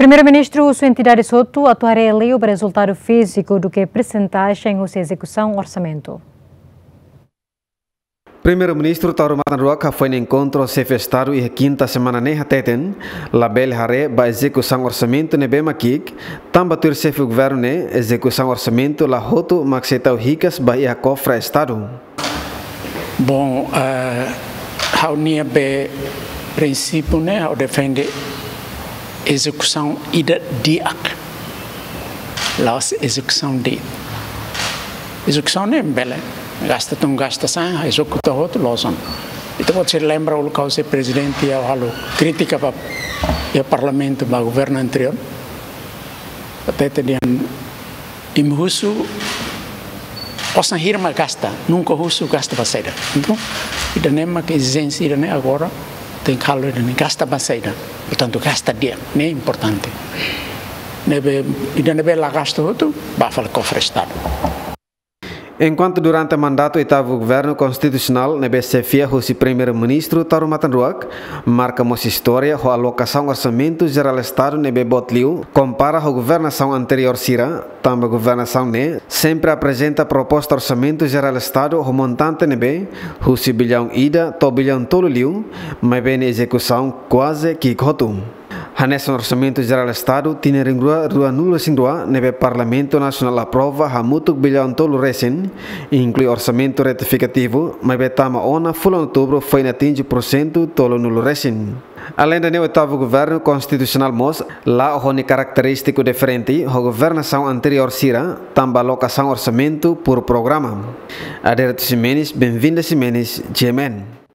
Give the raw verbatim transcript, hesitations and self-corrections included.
Primeiru-Ministru husu entidade hotu atu haree liu ba rezultadu fíziku duké persentajen husi ezekusaun orsamentu. Primeiru-Ministru Taur Matan Ruak hafoin enkontru xefe Estadu iha kinta semana ne'e hateten, labele haree ba ezekusaun orsamentu ne'ebé mak ki'ik, tanba tuir xefe governu ne'e ezekusaun orsamentu la hotu mak sei tau hikas ba iha kofre Estadu. Bom, eh, ha'u-nia be prinsípiu ne'e, ha'u defende ezekusaun ida di'ak. La'ós ezekusaun de'it. Ezekusaun ne'e bele gasta tun gasta sa'e, ezekuta hotu loos ona. Ita-boot sira lembra uluk ha'u sei prezidente, ha'u halo krítika ba iha parlamentu ba governu anteriór. Hateten dehan imi husu osan hira mak gasta, nunka husu gasta ba saida. Entaun, ida-ne'e mak ezijénsia ida-ne'e agora, tenke halo ida-ne'e, gasta ba saida. Portantu, gasta di'ak, ne'e importante. Ne'ebé, ida ne'ebé la gasta hotu, bá fali kofre Estadu. Enkuantu durante mandatu oitavu governu konstitusionál ne'ebé xefia husi Primeiru-Ministru Taur Matan Ruak, marka mós istória ho alokasaun orsamentu jerál Estadu ne'ebé boot liu, kompara ho governasaun anteriór sira, tanba governasaun ne'e sempre aprezenta proposta orsamentu jerál Estadu ho montante ne'ebé husi billaun ida to'o billaun tolu liu, maibé nia ezekusaun kuaze ki'ik hotu. Hanesan orsamentu jerál Estadu tinan rihun rua ruanulu-resin-rua ne'ebé Parlamentu Nasionál aprova hamutuk billaun tolu resin, inklui orsamentu retifikativu, maibé tama ona fulan Outubru foin atinje pursentu tolunulu resin. Aleinde ne'e, oitavu governu konstitusionál mós la'o ho nia karakterístiku diferente ho governasaun anteriór sira, tanba alokasaun orsamentu por programa. Adérito Ximenes, Benvinda Ximenes, G M N.